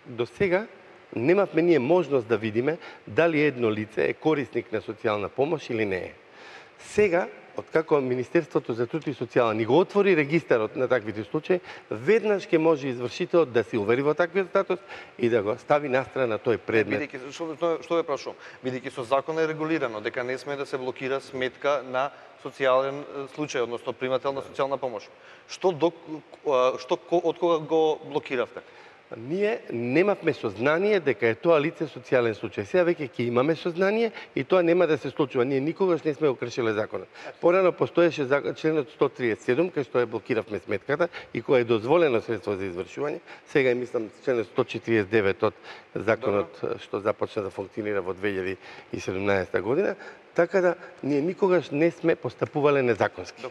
До сега немавме ние можност да видиме дали едно лице е корисник на социјална помош или не е. Сега, откако Министерството за труд и социјала ни го отвори регистарот на таквите случаи, веднаш ќе може извршителот да се увери во таквиот статус и да го стави настрана тој предмет. Што ве прашувам? Бидејќи со закон е регулирано дека не сме да се блокира сметка на социјален случај, односно примател на социјална помош. Од кога го блокиравте? Ние немавме сознание дека е тоа лице социјален случај. Сега веќе ќе имаме сознание и тоа нема да се случува. Ние никогаш не сме го кршиле законот. Порано постоеше членот 137 кај што ја блокиравме сметката и кој е дозволено средство за извршување. Сега мислам членот 149 од законот што започна да функционира во 2017 година, така да ние никогаш не сме постапувале незаконски.